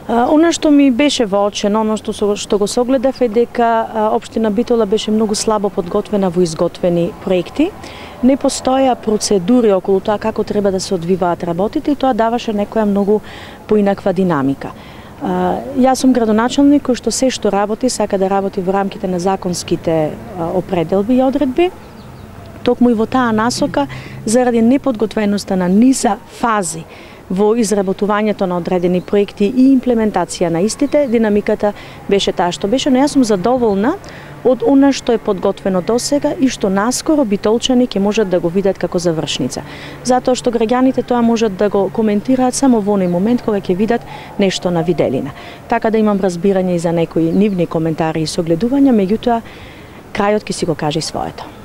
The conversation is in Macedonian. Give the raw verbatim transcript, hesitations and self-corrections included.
Она што ми беше воочено, оно што, што го согледав е дека општина Битола беше многу слабо подготвена во изготвени проекти. Не постоја процедури околу тоа како треба да се одвиваат работите и тоа даваше некоја многу поинаква динамика. Јас сум градоначалник кој што се што работи сака да работи во рамките на законските определби и одредби. Токму и во таа насока, заради неподготвеноста на низа фази во изработувањето на одредени проекти и имплементација на истите, динамиката беше таа што беше, но јас сум задоволна од она што е подготвено досега и што наскоро битолчани ќе можат да го видат како завршница. Затоа што граѓаните тоа можат да го коментираат само во оној момент кога ќе видат нешто на виделина. Така да имам разбирање и за некои нивни коментари и согледувања, меѓутоа крајот ќе си го каже своето.